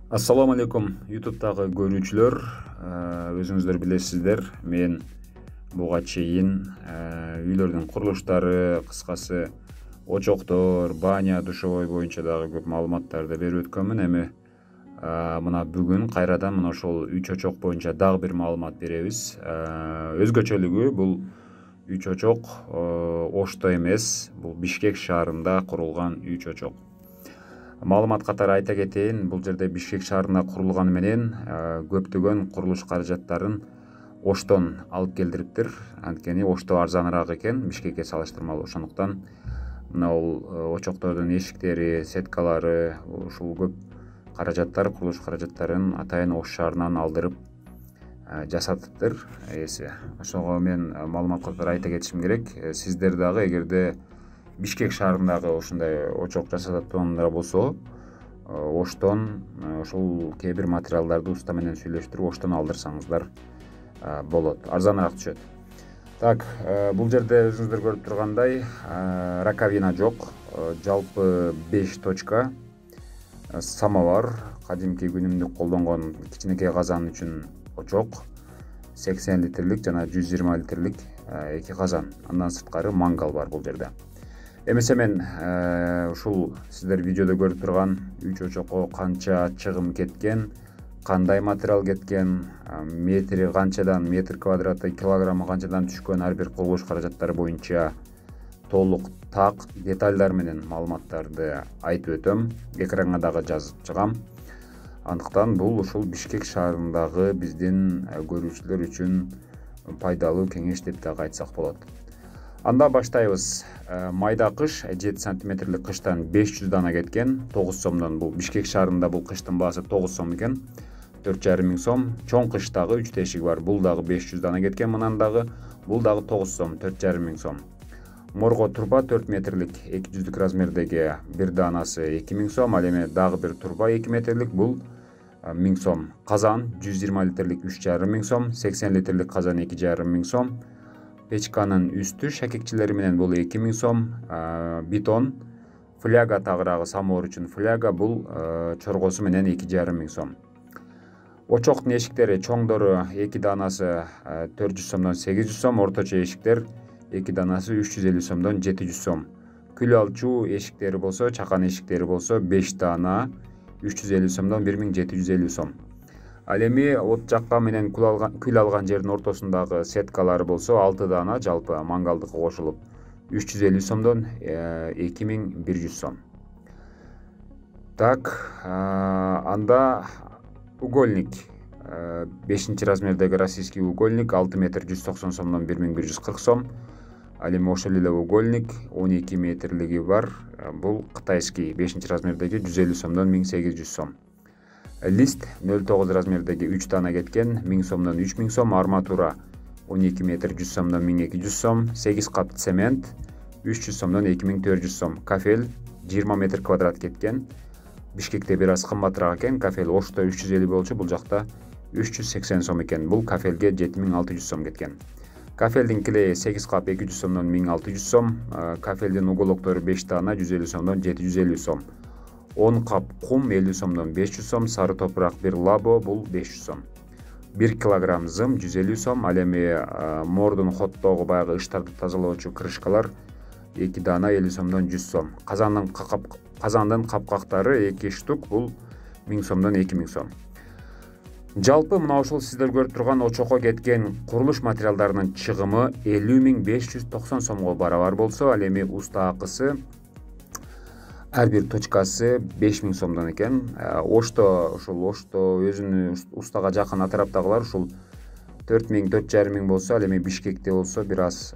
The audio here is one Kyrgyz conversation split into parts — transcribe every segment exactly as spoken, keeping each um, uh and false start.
Ассаламу алейкум ютубтагы көрүүчүлөр, өзүңүздөр билесиздер, мен буга чейин үйлөрдүн курулуштары, кыскасы очоктор, баня, душевой боюнча дагы көп маалыматтарды берип өткөнмүн. Эми мына бүгүн кайрадан мына ошол үч очок боюнча дагы бир маалымат беребиз. Өзгөчөлүгү бул үч очок Ошто эмес, бул Бишкек шаарында курулган үч очок. Маалымат катары айта кетейин, бул жерде Бишкек шаарында курулганы менен көптөгөн курулуш каражаттарын Оштон алып келдириптир. Анткени Ошто арзаныраак экен Бишкекке салыштырмалуу. Ошондуктан мына бул очоктордун эшиктери, сеткалары, ушул көп каражаттар, курулуш каражаттарын атайын Ош шаарынан алдырып жасатыптыр ээси. Ошого мен маалымат катары айта кетишим керек. Сиздер дагы эгерде Бишкек шаарындагы ушундай очок жасататындар болсо, Оштон ошол кээ бир материалдарды уста менен сүйлөштүрүп Оштон алдырсаңыздар болот, арзаныраак түшөт. Так, бул жерде өзүңүздөр көрүп тургандай раковина жок, жалпы беш точка, самовар, кадимки күнүмдүк колдонгон кичинекей казан үчүн очок, сексен литрлик жана жүз жыйырма литрлик эки казан. Андан сырткары мангал бар бул жерде. Эмесе мен ушул сиздер видеодо көрүп турган үч очокко канча чыгым кеткен, кандай материал кеткен, метри канчадан, метр квадраты, килограммы канчадан түшкөн, ар бир курулуш каражаттары боюнча толук так детальдар менен маалыматтарды айтып өтөм. Экранга дагы жазып чыгам. Андыктан бул ушул Бишкек шаарындагы биздин көрүүчүлөр үчүн пайдалуу кеңеш деп дагы айтсак болот. Анда баштайбыз. Майда кыш жети сантиметрлик кыштан беш жүз дана кеткен, тогуз сомдон. Бул Бишкек шаарында бул кыштын баасы тогуз сом экен, төрт жарым миң сом. Чоң кыш дагы үч тешиги бар, бул дагы беш жүз дана кеткен, мынан дагы бул дагы тогуз сом, төрт жарым миң сом. Морго турба төрт метрлик эки жүздүк размердеги бир даанасы эки миң сом, ал эми дагы бир турба эки метрлик, бул миң сом. Казан жүз жыйырма литрлик үч жарым миң сом, сексен литрлик казан эки жарым миң сом. Печканын үстү шакекчилери менен бул эки миң сом. Бетон, фляга тагыраагы самовар үчүн фляга, бул чоргосу менен эки жарым миң сом. Очоктун эшиктери чоңдору эки даанасы төрт жүз сомдон сегиз жүз сом, орточо эшиктер эки даанасы үч жүз элүү сомдон жети жүз сом. Күл алчу эшиктери болсо, чакан эшиктери болсо беш даана үч жүз элүү сомдон бир миң жети жүз элүү сом. Ал эми от жаккан менен күл алган, күл алган жердин ортосундагы сеткалары болсо алты даана, жалпы мангалдыкка кошулуп үч жүз элүү сомдон эки миң бир жүз сом. Так, анда угольник, бешинчи размердеги российский угольник алты метр жүз токсон сомдон бир миң бир жүз кырк сом. Ал эми ошол эле угольник он эки метрлиги бар, бул кытайский бешинчи размердеги жүз элүү сомдон миң сегиз жүз сом. Лист нөл тогуз размердеги үч даана кеткен, миң сомдон үч миң сом. Арматура он эки метр жүз сомдон миң эки жүз сом. сегиз кап цемент үч жүз сомдон эки миң төрт жүз сом. Кафель жыйырма метр квадрат кеткен. Бишкекте бир аз кымбатыраак экен. Кафель Ошто үч жүз элүү болчу, бул жакта үч жүз сексен сом экен. Бул кафелге жети миң алты жүз сом кеткен. Кафелдин килейи сегиз кап эки жүз сомдон миң алты жүз сом. Кафелдин уголоктору беш даана жүз элүү сомдон жети жүз элүү сом. он кап кум элүү сомдон беш жүз сом. Сары топурак бир лабо, бул беш жүз сом. бир килограмм зым жүз элүү сом. Ал эми мордун хоттогу баягы ыштарды тазалоочу крышкалар эки даана элүү сомдон жүз сом. Казандын кап казандын капкактары эки штук, бул миң сомдон эки миң сом. Жалпы мына ушул сиздер көрүп турган очокко кеткен курулуш материалдарынын чыгымы элүү миң беш жүз токсон сомго барабар болсо, ал эми уста акысы ар бир точкасы беш миң сомдон экен. Ошто, ушул Ошто өзүнүн устага жакын атраптагылар ушул төрт миң, төрт жарым миң болсо, ал эми Бишкекте болсо бир аз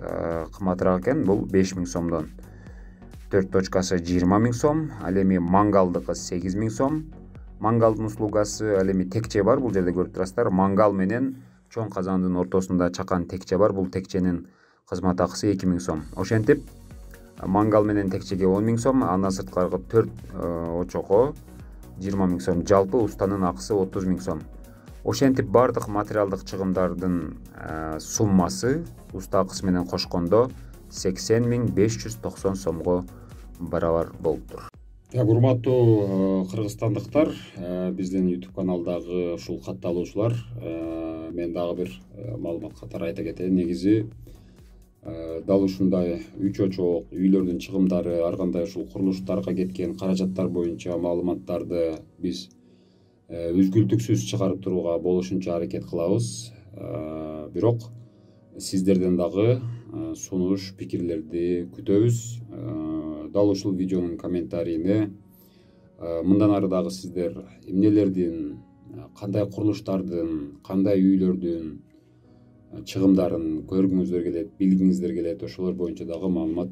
кымбатыраак экен, бул беш миң сомдон. төрт точкасы жыйырма миң сом, ал эми мангалдыкы сегиз миң сом. Мангалдын услугасы, ал эми текче бар, бул жерде көрүп турасыздар. Мангал менен чоң казандын ортосунда чакан текче бар, бул текченин кызмат акысы эки миң сом. Ошентип мангал менен текчеге он миң сом, андан сырткаркы төрт очокко жыйырма миң сом. Жалпы устанын акысы отуз миң сом. Ошентип бардык материалдык чыгымдардын суммасы уста акысы менен кошкондо сексен миң беш жүз токсон сомго барабар болуптур. Так, урматтуу кыргызстандыктар, биздин YouTube каналдагы ушул катталуучулар, мен дагы бир маалымат катары айта кетейин. Негизи дал ушундай үй чочок, үйлөрдүн чыгымдары, ар кандай ушул курулуштарга кеткен каражаттар боюнча маалыматтарды биз үзгүлтүксүз чыгарып турууга болушунча аракет кылабыз. Бирок сиздерден дагы сунуш, пикирлерди күтөбүз. Дал ушул видеонун комментарийине мындан ары дагы сиздер эмнелердин, кандай курулуштардын, кандай үйлөрдүн чыгымдарын көргүңүздөр келет, билгиңиздер келет, ошолор боюнча дагы маалымат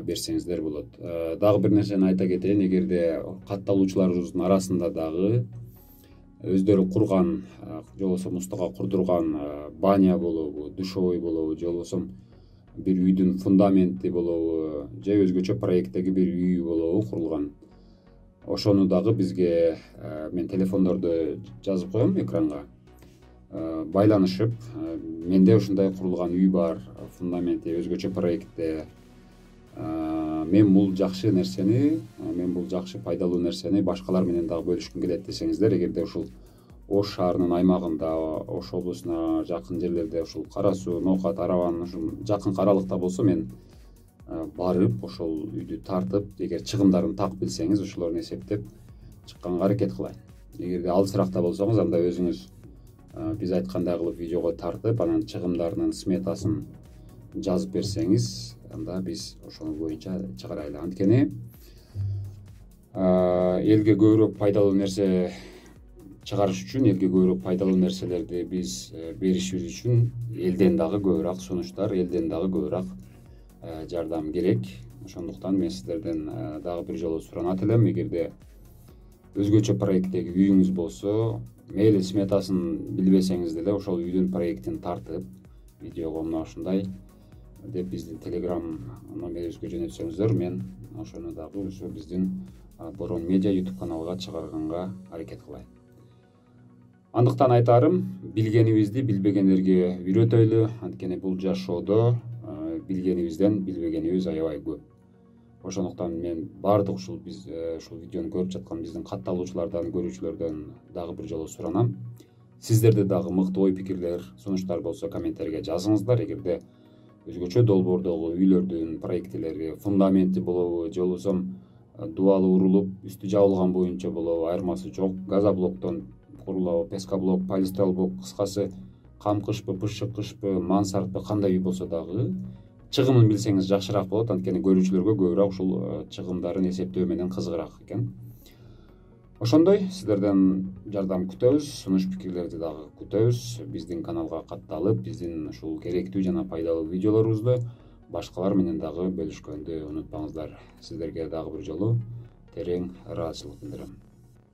берсеңиздер болот. Дагы бир нерсени айта кетейин, эгерде катталуучуларыбыздын арасында дагы өздөрү курган, же болбосо мустага курдурган баня болобу, душевой болобу, же болбосо бир үйдүн фундаменти болобу, же өзгөчө проекттеги бир үй болобу курулган, ошону дагы бизге мен телефондорду жазып коем экранга, байланышып, менде ушундай курулган үй бар, фундаменти өзгөчө проектте, мен бул жакшы нерсени, мен бул жакшы пайдалуу нерсени башкалар менен дагы бөлүшкүм келет десеңиздер, эгерде ушул Ош шаарынын аймагында, Ош облусуна жакын жерлерде, ушул Кара Суу, Ноокат, Арабанын ушул жакын аралыкта болсо, мен барып ошол үйдү тартып, эгер чыгымдарын так билсеңиз, ошолорун эсептеп чыкканга аракет кылайын. Эгерде алысыракта болсоңуз, анда өзүңүз биз айткандай кылып видеого тартып, анан чыгымдарынын сметасын жазып берсеңиз, анда биз ошол боюнча чыгарайлы. Анткени элге көбүрөөк пайдалуу нерсе чыгарыш үчүн, элге көбүрөөк пайдалуу нерселерди биз беришибиз үчүн элден дагы көбүрөөк сунуштар, элден дагы көбүрөөк жардам керек. Ошондуктан мен сиздерден дагы бир жолу суранат элем, эгерде өзгөчө проекттеги үйүңүз болсо, мейли сметасын билбесеңиз деле ошол үйдүн проектин тартып, видеого мына ушундай деп биздин телеграм номерибизге жөнөтсөңүздөр, мен ошону дагы ошо биздин Борон Медиа YouTube каналга чыгарганга аракет кылайын. Андыктан айтарым, билгенибизди билбегендерге үйрөтөйлү, анткени бул жашоодо билгенибизден билбегенибиз аябай көп. Ошондуктан мен баардык ушул биз ушул видеону көрүп жаткан биздин катталуучулардан, көрүүчүлөрдөн дагы бир жолу суранам. Сиздерде дагы мыкты ой пикирлер, сунуштар болсо комментарийге жазыңыздар. Эгерде өзгөчө долбоордогу үйлөрдүн проектилери, фундаменти болобу, же болбосо дубалы урулуп, үстү жабылган боюнча болобу, айырмасы жок, газоблоктон курулабы, пескоблок, полистиролблок, кыскасы камкышпы, бышыкышпы, мансардпы, кандай үй болсо дагы чыгымын билсеңиз жакшыраак болот, анткени көрүүчүлөргө көбүрөөк ушул чыгымдарын эсептөө менен кызыгыраак экен. Ошондой сиздерден жардам күтөбүз, сунуш пикирлерди дагы күтөбүз. Биздин каналга катталып, биздин ушул керектүү жана пайдалуу видеолорубузду башкалар менен дагы бөлүшкөндү унутпаңыздар. Сиздерге дагы бир жолу терең ыраазычылык билдирем.